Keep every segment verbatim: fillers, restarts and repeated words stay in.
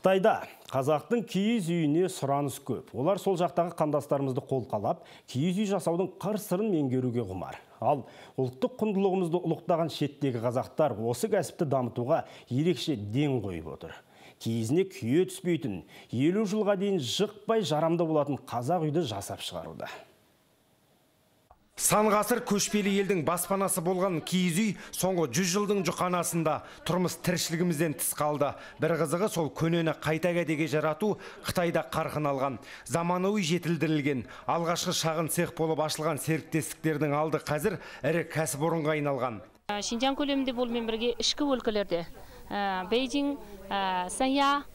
Қытайда қазақтың киіз үйіне сұраныс көп. Олар сол жақтағы қандастарымызды қолқалап, киіз үй жасаудың қыр-сырын меңгеруге құмар. Ал ұлттық құндылығымызды ұлықтаған шеттегі қазақтар осы кәсіпті дамытуға ерекше ден қойып отыр. Киізіне күйе түспейтін, елу жылға дейін жықпай жарамды болатын қазақ үйді жасап шығаруда. Сан ғасыр көшпелі елдің баспанасы болған киіз үй соңғы жүз жылдың жұқанасында тұрмыс тіршілігімізден тыс қалды. Бір қызығы сол көнені қайта кәдеге жарату Қытайда қарқын алған. Заманауи жетілдірілген, алғашқы шағын цех болып ашылған серіктестіктердің алды қазір ірі кәсіпорынға айналған. Шинжаң көлемінде болмен бірге ішкі өлкелерде Бейжің, Санья,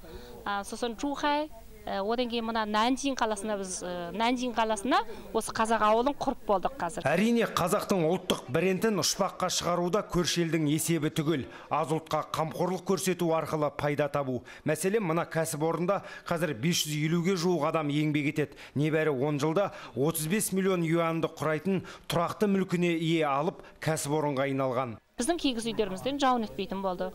сосын Чухай, одан кейін мына Нанжин қаласына біз Нанжин қаласына осы қазақ ауылын құрып болдық қазір. Әрине, қазақтың ұлттық брендін ұшпаққа шығаруда көрші елдің есебі түгел. Аз ұлтқа қамқорлық көрсету арқылы пайда табу. Мәселен, мына кәсіпорында қазір бес жүз елуге жуық адам еңбек етеді. Небәрі он жылда отыз бес миллион юанды құрайтын тұрақты мүлкіне ие алып кәсіпорынға айналған. Біздің киіз үйлерімізден жауын өтпейтін болды.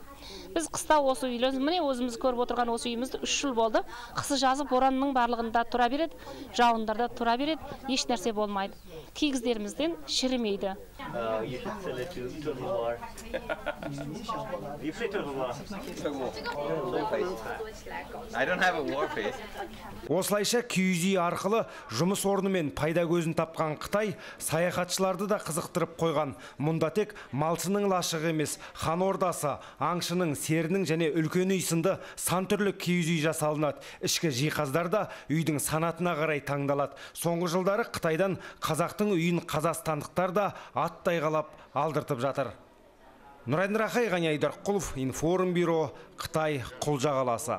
Біз қыста осы үйлеріміз, міне өзіміз көріп отырған осы үйімізді үш жыл болды. Қысы жазы боранның барлығында тұра береді, жауындарда тұра береді, еш нәрсе болмайды. Киіздерімізден шірімейді. Осылайша киіз үй арқылы жұмыс орны мен пайда көзін тапқан Қытай саяхатшыларды да қызықтырып қойған. Мұнда тек малшының лашығы емес, хан ордасы, аңшының, серінің және үлкен үй сынды сан түрлі киіз үй жасалынады. Ішкі жиһаздар да үйдің санатына қарай таңдалады. Соңғы жылдары Қытайдан қазақтың үйін қазақстандықтар да аттай қалап алдыртып жатыр. Нұрайдын Рахай, Ғани Айдарқұлов, Информбюро, Қытай, Құлжа қаласы.